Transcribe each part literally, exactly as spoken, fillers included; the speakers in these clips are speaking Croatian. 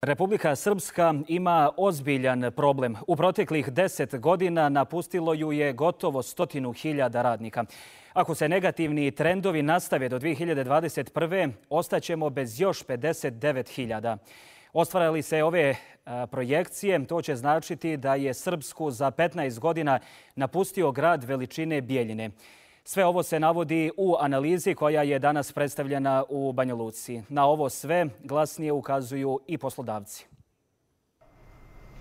Republika Srpska ima ozbiljan problem. U proteklih deset godina napustilo ju je gotovo stotinu hiljada radnika. Ako se negativni trendovi nastave do dvije hiljade dvadeset prve. ostaćemo bez još pedeset devet hiljada. Ostvare li se ove projekcije, to će značiti da je Srpsku za petnaest godina napustio grad veličine Bijeljine. Sve ovo se navodi u analizi koja je danas predstavljena u Banja Luci. Na ovo sve glasnije ukazuju i poslodavci.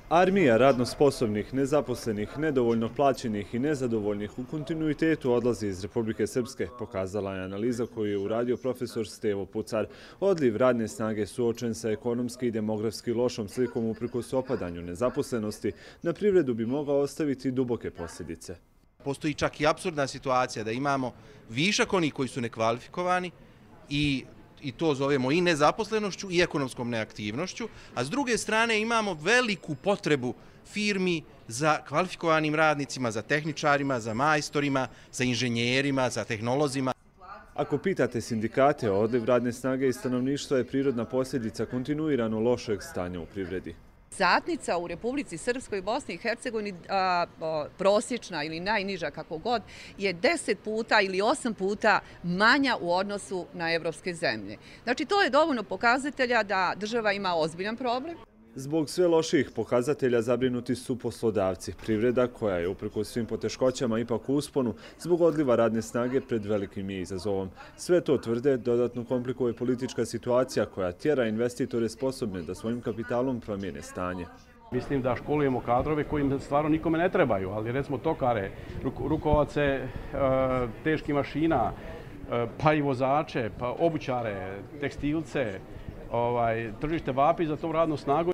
Armija radno sposobnih, nezaposlenih, nedovoljno plaćenih i nezadovoljnih u kontinuitetu odlazi iz Republike Srpske, pokazala je analiza koju je uradio profesor Stevo Pucar. Odliv radne snage suočen sa ekonomski i demografski lošom slikom uprkos opadanju nezaposlenosti na privredu bi mogao ostaviti duboke posljedice. Postoji čak i apsurdna situacija da imamo višak onih koji su nekvalifikovani i i to zovemo i nezaposlenošću i ekonomskom neaktivnošću, a s druge strane imamo veliku potrebu firmi za kvalifikovanim radnicima, za tehničarima, za majstorima, za inženjerima, za tehnolozima. Ako pitate sindikate, odliv radne snage i stanovništva je prirodna posljedica kontinuirano lošeg stanja u privredi. Satnica u Republici Srpskoj i Bosni i Hercegovini, prosječna ili najniža kako god, je deset puta ili osam puta manja u odnosu na evropske zemlje. Znači, to je dovoljno pokazatelja da država ima ozbiljan problem. Zbog sve loših pokazatelja zabrinuti su poslodavci. Privreda, koja je uprkos svim poteškoćama ipak u usponu, zbog odliva radne snage pred velikim je izazovom. Sve to tvrde dodatno komplikuje politička situacija koja tjera investitore sposobne da svojim kapitalom promijene stanje. Mislim da školujemo kadrove kojim stvarno nikome ne trebaju, ali recimo tokare, rukovace teških mašina, pa i vozače, pa obućare, tekstilce, tržište vapi za tom radnu snagu.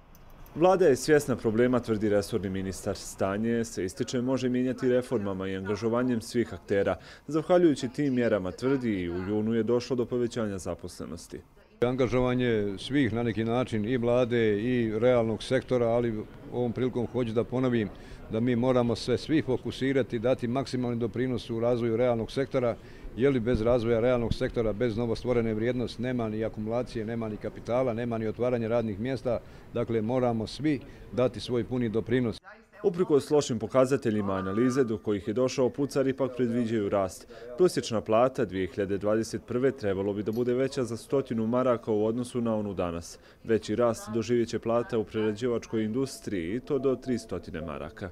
Vlada je svjesna problema, tvrdi resorni ministar. Stanje se ističe može mijenjati reformama i angažovanjem svih aktera. Zahvaljujući tim mjerama, tvrdi, i u junu je došlo do povećanja zaposlenosti. Angažovanje svih na neki način i vlade i realnog sektora, ali ovom prilikom hoću da ponovim da mi moramo se svi fokusirati, dati maksimalni doprinos u razvoju realnog sektora, jer li bez razvoja realnog sektora, bez novostvorene vrijednosti, nema ni akumulacije, nema ni kapitala, nema ni otvaranja radnih mjesta. Dakle, moramo svi dati svoj puni doprinos. Uprkos lošim pokazateljima analize do kojih je došao Pucar ipak predviđaju rast. Prosječna plata dvije hiljade dvadeset prve. trebalo bi da bude veća za stotinu maraka u odnosu na onu danas. Veći rast doživjet će plata u prerađivačkoj industriji i to do tri stotine maraka.